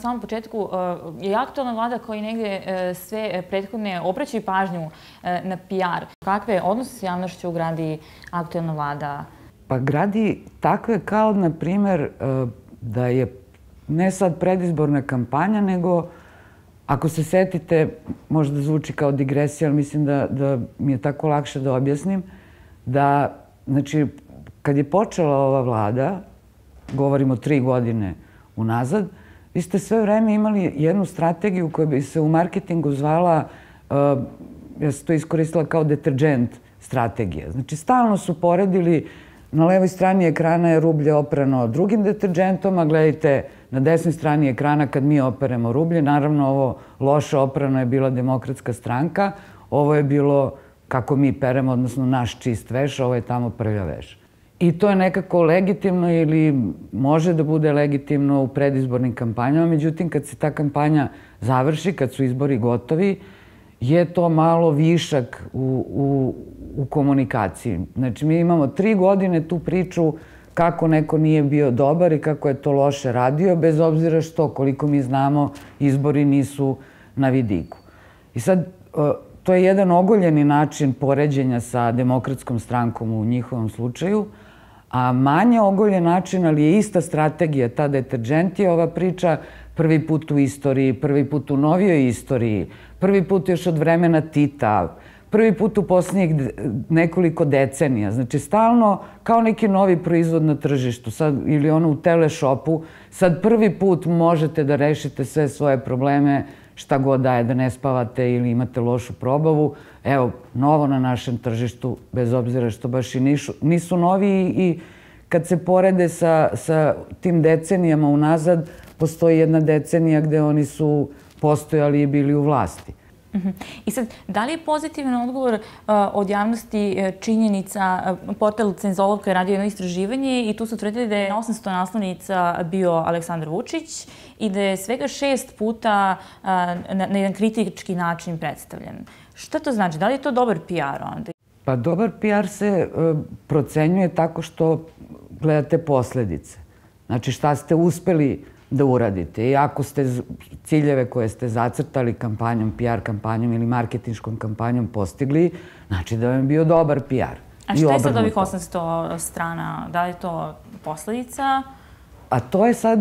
samom početku, je aktualna vlada koji negdje sve prethodne obraćaju pažnju na PR. Kakve odnose s javnošću gradi aktualna vlada? Pa gradi takve kao, na primjer, da je ne sad predizborna kampanja, nego ako se setite, možda zvuči kao digresija, ali mislim da mi je tako lakše da objasnim, da, znači, kad je počela ova vlada, govorimo 3 godine unazad, vi ste sve vreme imali jednu strategiju koja bi se u marketingu zvala, ja sam to iskoristila kao deterđent strategija. Znači, stalno su poredili, na levoj strani ekrana je rublje oprano drugim deterđentom, a gledajte, na desnoj strani ekrana kad mi operemo rublje, naravno ovo loše oprano je bila Demokratska stranka, ovo je bilo kako mi peremo, odnosno naš čist veš, ovo je tamo prljav veš. I to je nekako legitimno ili može da bude legitimno u predizbornim kampanjama, međutim kad se ta kampanja završi, kad su izbori gotovi, je to malo višak u komunikaciji. Znači mi imamo 3 godine tu priču kako neko nije bio dobar i kako je to loše radio, bez obzira što, koliko mi znamo, izbori nisu na vidiku. I sad, to je jedan ogoljeni način poređenja sa Demokratskom strankom u njihovom slučaju, a manje ogoljen način, ali je ista strategija, ta deterđent je ova priča prvi put u istoriji, prvi put u novijoj istoriji, prvi put još od vremena Tita, prvi put u posljednjih nekoliko decenija. Znači, stalno kao neki novi proizvod na tržištu, sad, ili ono u teleshopu, sad prvi put možete da rešite sve svoje probleme, šta god daje, da ne spavate ili imate lošu probavu. Evo, novo na našem tržištu, bez obzira što baš i nisu novi i kad se porede sa tim decenijama unazad, postoji jedna decenija gde oni su postojali i bili u vlasti. I sad, da li je pozitivan odgovor od javnosti činjenica, portal Cenzolovka je radio jedno istraživanje i tu su tvrdili da je na 800 naslovnica bio Aleksandar Vučić i da je svega 6 puta na jedan kritički način predstavljen. Šta to znači? Da li je to dobar PR onda? Pa dobar PR se procenjuje tako što gledate posledice. Znači šta ste uspeli da uradite. I ako ste ciljeve koje ste zacrtali kampanjom, PR kampanjom ili marketinškom kampanjom postigli, znači da vam je bio dobar PR. A šta je sad ovih 800 strana? Da li je to posledica? A to je sad,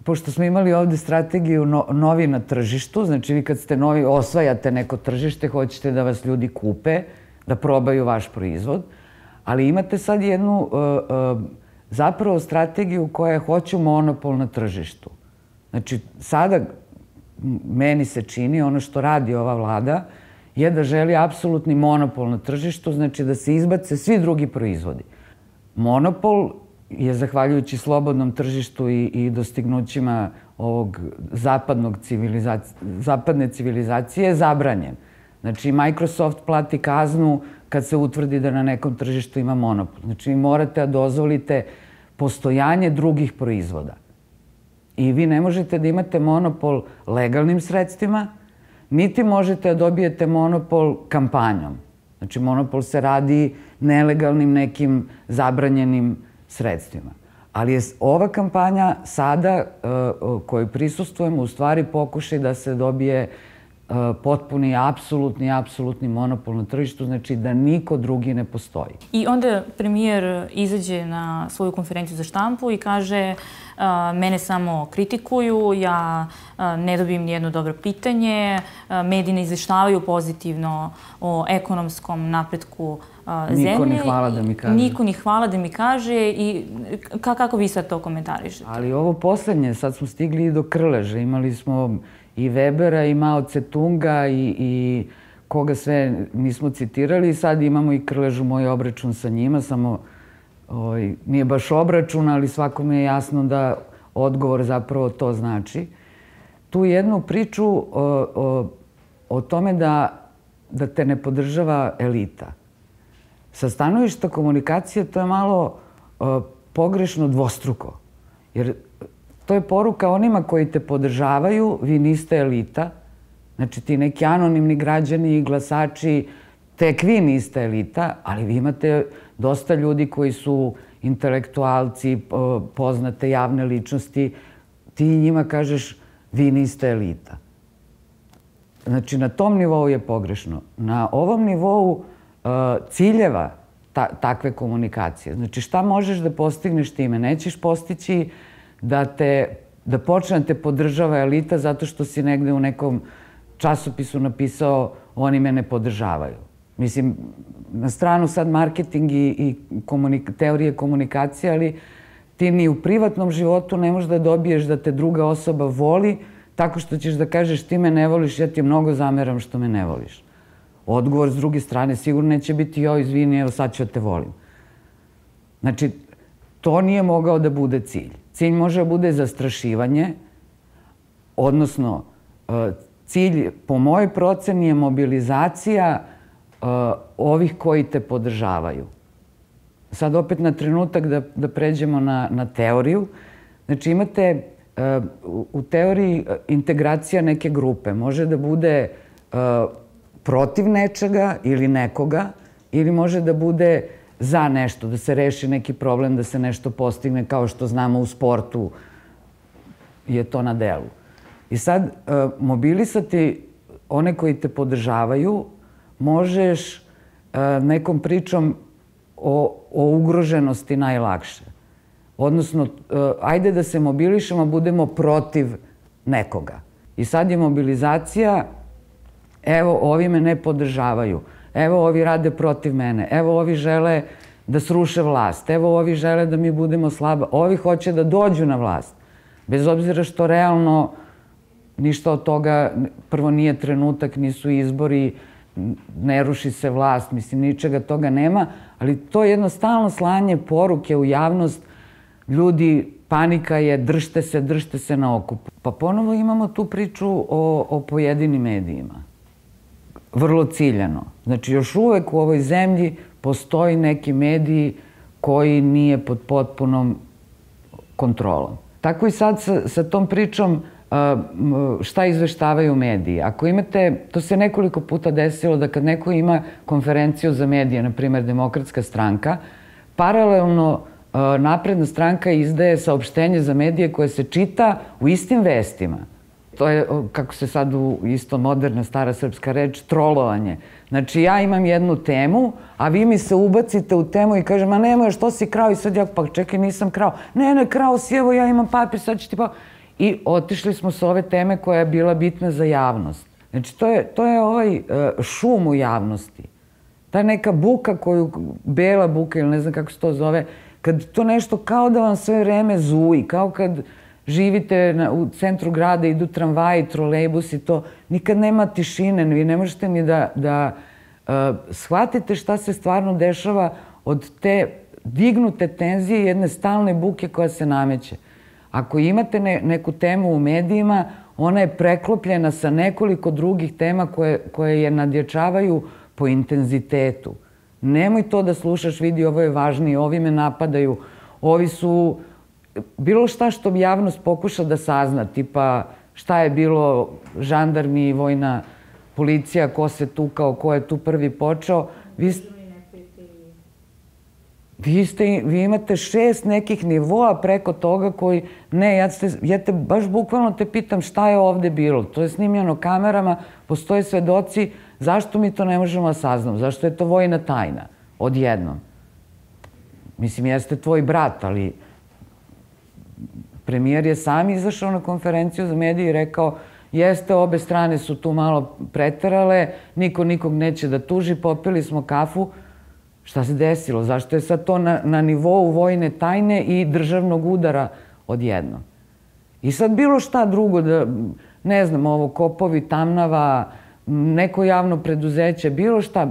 pošto smo imali ovde strategiju novi na tržištu, znači vi kad ste novi, osvajate neko tržište, hoćete da vas ljudi kupe, da probaju vaš proizvod, ali imate sad jednu zapravo strategiju koja je hoću monopol na tržištu. Znači, sada meni se čini, ono što radi ova vlada, je da želi apsolutni monopol na tržištu, znači da se izbace svi drugi proizvodi. Monopol je, zahvaljujući slobodnom tržištu i dostignućima ovog zapadne civilizacije, zabranjen. Znači, Microsoft plati kaznu kad se utvrdi da na nekom tržištu ima monopol. Znači, vi morate da dozvolite postojanje drugih proizvoda. I vi ne možete da imate monopol legalnim sredstvima, niti možete da dobijete monopol kampanjom. Znači, monopol se radi nelegalnim nekim zabranjenim sredstvima. Ali je ova kampanja sada, koju prisustvujemo, u stvari pokušaj da se dobije potpuni, apsolutni monopol na tržištu, znači da niko drugi ne postoji. I onda premijer izađe na svoju konferenciju za štampu i kaže mene samo kritikuju, ja ne dobijem nijedno dobro pitanje, mediji ne izveštavaju pozitivno o ekonomskom napretku zemlje. Niko ni hvala da mi kaže. Niko ni hvala da mi kaže i kako vi sad to komentarišete? Ali ovo poslednje, sad smo stigli i do Krleža, imali smo i Webera i Mao Tse-tunga i koga sve nismo citirali. Sad imamo i Krležu, moj obračun sa njima, samo nije baš obračun, ali svakome je jasno da odgovor zapravo to znači. Tu jednu priču o tome da te ne podržava elita. Sa stanovišta komunikacije to je malo pogrešno dvostruko. Jer to je poruka onima koji te podržavaju, vi niste elita. Znači ti neki anonimni građani i glasači, tek vi niste elita, ali vi imate dosta ljudi koji su intelektualci, poznate javne ličnosti. Ti njima kažeš, vi niste elita. Znači, na tom nivou je pogrešno. Na ovom nivou ciljeva takve komunikacije. Znači, šta možeš da postigneš time? Nećeš postići da počne te podržava elita zato što si negde u nekom časopisu napisao oni me ne podržavaju. Mislim, na stranu sad marketing i teorije komunikacije, ali ti ni u privatnom životu ne možeš da dobiješ da te druga osoba voli tako što ćeš da kažeš ti me ne voliš, ja ti mnogo zameram što me ne voliš. Odgovor s druge strane sigurno neće biti joj, izvini, evo sad ću da te volim. Znači, to nije mogao da bude cilj. Cilj može da bude zastrašivanje, odnosno cilj, po mojoj proceni, je mobilizacija ovih koji te podržavaju. Sad opet na trenutak da pređemo na teoriju. Znači imate u teoriji integracija neke grupe. Može da bude protiv nečega ili nekoga, ili može da bude za nešto, da se reši neki problem, da se nešto postigne, kao što znamo u sportu je to na delu. I sad mobilisati one koji te podržavaju možeš nekom pričom o ugroženosti najlakše. Odnosno, ajde da se mobilišemo, budemo protiv nekoga. I sad je mobilizacija, evo, ovi me ne podržavaju, evo, ovi rade protiv mene, evo, ovi žele da sruše vlast, evo, ovi žele da mi budemo slaba, ovi hoće da dođu na vlast. Bez obzira što realno ništa od toga, prvo nije trenutak, nisu izbori, ne ruši se vlast, mislim, ničega toga nema, ali to je jedno stalno slanje poruke u javnost, ljudi, panika je, držte se na okupu. Pa ponovo imamo tu priču o pojedinim medijima. Vrlo ciljano. Znači, još uvek u ovoj zemlji postoji neki mediji koji nije pod potpunom kontrolom. Tako i sad sa tom pričom šta izveštavaju mediji. Ako imate, to se nekoliko puta desilo da kad neko ima konferenciju za medije, na primjer Demokratska stranka, paralelno Napredna stranka izdaje saopštenje za medije koje se čita u istim vestima. To je, kako se sad isto moderna stara srpska reč, trolovanje. Znači, ja imam jednu temu, a vi mi se ubacite u temu i kaže, ma nemoj, što si krao? I sad ja, pa čekaj, nisam krao. Ne, krao si, evo ja imam papir, sad ću ti pa... I otišli smo sa ove teme koja je bila bitna za javnost. Znači, to je ovaj šum u javnosti. Ta neka buka koju, bela buka ili ne znam kako se to zove, kad to nešto kao da vam sve vreme zuji, kao kad živite u centru grada, idu tramvaji, trolejbusi, to nikad nema tišine, vi ne možete ni da shvatite šta se stvarno dešava od te dignute tenzije, jedne stalne buke koja se nameće. Ako imate neku temu u medijima, ona je preklopljena sa nekoliko drugih tema koje je nadjačavaju po intenzitetu. Nemoj to da slušaš, vidi, ovo je važnije, ovi me napadaju, ovi su... Bilo šta što bi javnost pokuša da sazna, tipa šta je bilo žandarmi, vojna policija, ko se tukao, ko je tu prvi počeo. Vi imate 6 nekih nivoa preko toga koji... Ne, ja te baš bukvalno te pitam šta je ovde bilo. To je snimljeno kamerama, postoje svedoci, zašto mi to ne možemo da saznamo? Zašto je to vojna tajna? Odjednom. Mislim, jeste tvoj brat, ali premijer je sam izašao na konferenciju za medije i rekao jeste, obe strane su tu malo preterale, niko nikog neće da tuži, popili smo kafu. Šta se desilo? Zašto je sad to na nivou vojne tajne i državnog udara odjednom? I sad bilo šta drugo, da, ne znam, ovo Kopovi, Tamnava, neko javno preduzeće,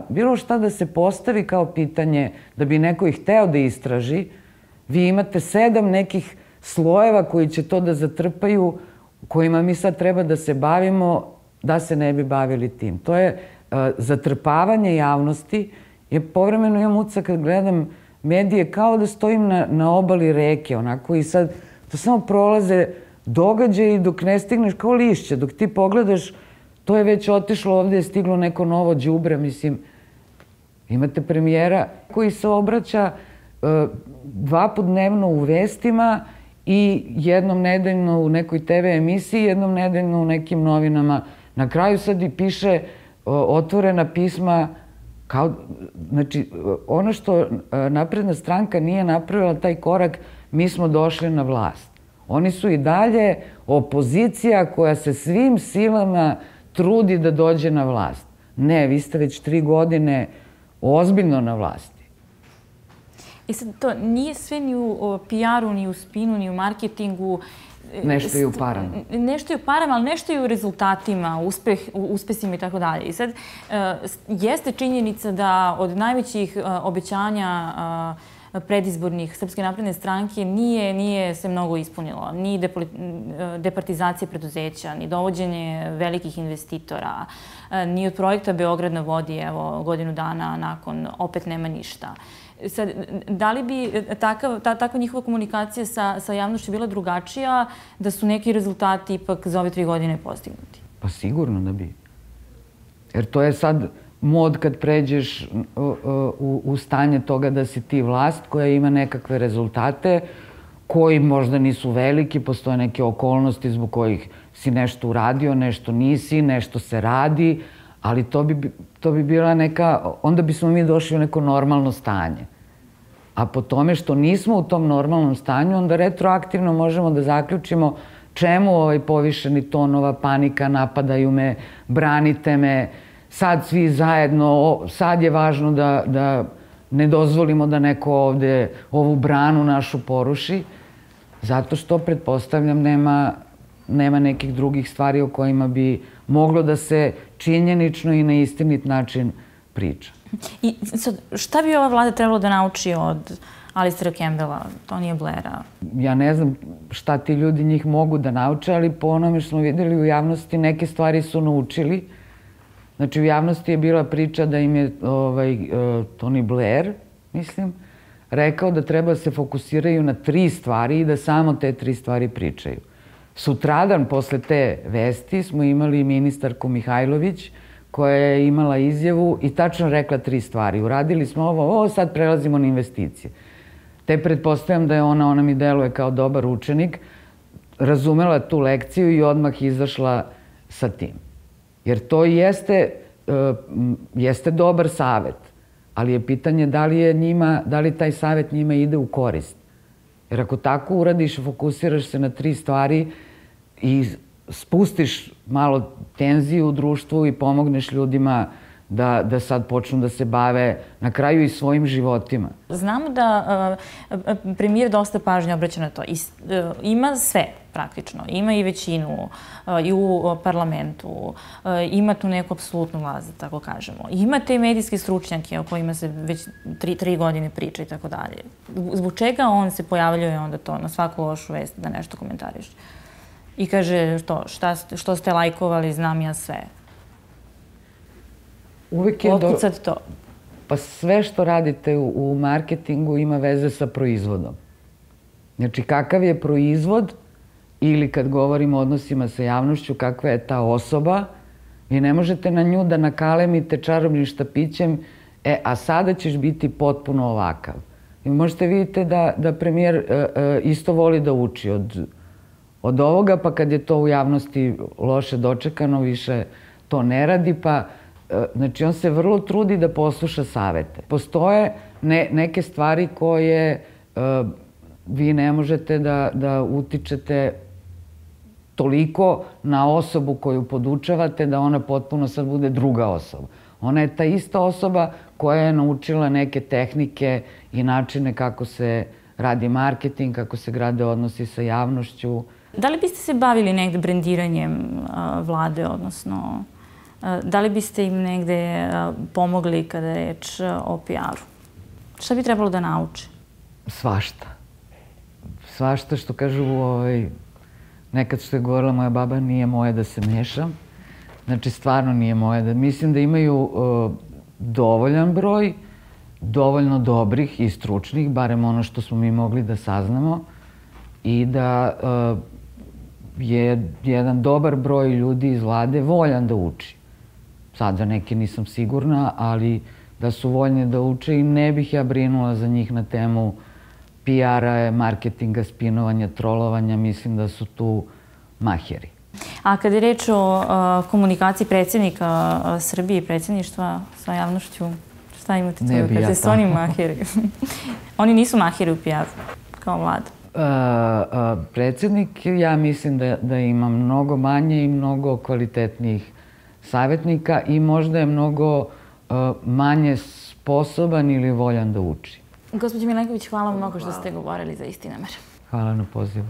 bilo šta da se postavi kao pitanje da bi neko ih hteo da istraži, vi imate 7 nekih slojeva koji će to da zatrpaju, kojima mi sad treba da se bavimo, da se ne bi bavili tim. To je zatrpavanje javnosti. Ja povremeno imam utisak kad gledam medije kao da stojim na obali reke, onako, i sad to samo prolaze događaji dok ne stigneš kao lišće. Dok ti pogledaš, to je već otišlo, ovde je stiglo neko novo đubre, mislim. Imate premijera koji se obraća 2 puta dnevno u vestima i jednom nedeljno u nekoj TV emisiji, jednom nedeljno u nekim novinama. Na kraju sad i piše otvorena pisma. Znači, ono što Napredna stranka nije napravila taj korak, mi smo došli na vlast. Oni su i dalje opozicija koja se svim silama trudi da dođe na vlast. Ne, vi ste već 3 godine ozbiljno na vlasti. I sad to nije sve ni u PR-u, ni u spinu, ni u marketingu. Nešto je u parama. Nešto je u parama, ali nešto je u rezultatima, uspesima i tako dalje. I sad, jeste činjenica da od najvećih obećanja predizbornih Srpske napredne stranke nije se mnogo ispunilo. Ni departizacija preduzeća, ni dovođenje velikih investitora, ni od projekta Beograd na vodi, evo, godinu dana nakon, opet nema ništa. Sad, da li bi takva njihova komunikacija sa javnošću bila drugačija da su neki rezultati ipak za ove 3 godine postignuti? Pa sigurno da bi. Jer to je sad mod kad pređeš u stanje toga da si ti vlast koja ima nekakve rezultate koji možda nisu veliki, postoje neke okolnosti zbog kojih si nešto uradio, nešto nisi, nešto se radi, ali to bi bila neka, onda bismo mi došli u neko normalno stanje. A po tome što nismo u tom normalnom stanju, onda retroaktivno možemo da zaključimo čemu ovaj povišeni ton, ova panika, napadaju me, branite me, sad svi zajedno, sad je važno da ne dozvolimo da neko ovde ovu branu našu poruši, zato što, pretpostavljam, nema nekih drugih stvari o kojima bi moglo da se činjenično i na istinit način priča. I sad, šta bi ova vlada trebalo da nauči od Alistera Campbella, Tonija Blaira? Ja ne znam šta ti ljudi njih mogu da nauče, ali po onome što smo videli u javnosti, neke stvari su naučili. Znači, u javnosti je bila priča da im je Tony Blair, mislim, rekao da treba da se fokusiraju na 3 stvari i da samo te 3 stvari pričaju. Sutradan, posle te vesti, smo imali ministarku Mihajlović, koja je imala izjavu i tačno rekla 3 stvari. Uradili smo ovo, sad prelazimo na investicije. Te pretpostavljam da je ona mi deluje kao dobar učenik, razumela tu lekciju i odmah izašla sa tim. Jer to jeste dobar savet, ali je pitanje da li taj savet njima ide u korist. Jer ako tako uradiš, fokusiraš se na 3 stvari i spustiš malo tenziju u društvu i pomogneš ljudima da sad počnu da se bave na kraju i svojim životima. Znamo da premijer dosta pažnje obraća na to. Ima sve, praktično. Ima i većinu i u parlamentu. Ima tu neku apsolutnu vlast, da tako kažemo. Ima te medijske stručnjake o kojima se već 3 godine priča i tako dalje. Zbog čega on se pojavljuje onda to na svaku lošu vest da nešto komentariš? I kaže, što ste lajkovali, znam ja sve. Uvijek je otkud sad to? Pa sve što radite u marketingu ima veze sa proizvodom. Znači, kakav je proizvod ili kad govorimo o odnosima sa javnošću, kakva je ta osoba, vi ne možete na nju da nakalemite čarobnim štapićem, a sada ćeš biti potpuno ovakav. I možete vidite da premijer isto voli da uči od ovoga, pa kad je to u javnosti loše dočekano, više to ne radi, pa znači on se vrlo trudi da posluša savete. Postoje neke stvari koje vi ne možete da utičete toliko na osobu koju podučavate da ona potpuno sad bude druga osoba. Ona je ta ista osoba koja je naučila neke tehnike i načine kako se radi marketing, kako se grade odnosi sa javnošću. Da li biste se bavili negde brendiranjem vlade, odnosno da li biste im negde pomogli kada je reč o PR-u? Šta bi trebalo da nauče? Svašta. Svašta, što kažu, nekad što je govorila moja baba, nije moje da se mešam. Znači, stvarno nije moje. Mislim da imaju dovoljan broj, dovoljno dobrih i stručnih, barem ono što smo mi mogli da saznamo, i da je jedan dobar broj ljudi iz vlade voljan da uči. Sad za neke nisam sigurna, ali da su voljni da uče i ne bih ja brinula za njih na temu PR-a, marketinga, spinovanja, trolovanja, mislim da su tu maheri. A kad je reč o komunikaciji predsjednika Srbije i predsjedništva sa javnošću, šta imate tu da kažete? Su oni maheri? Oni nisu maheri u PR-u, kao vlada. Predsjednik, ja mislim da ima mnogo manje i mnogo kvalitetnijih savjetnika i možda je mnogo manje sposoban ili voljan da uči. Gospođo Milenković, hvala mnogo što ste govorili za Istinomar. Hvala na pozivu.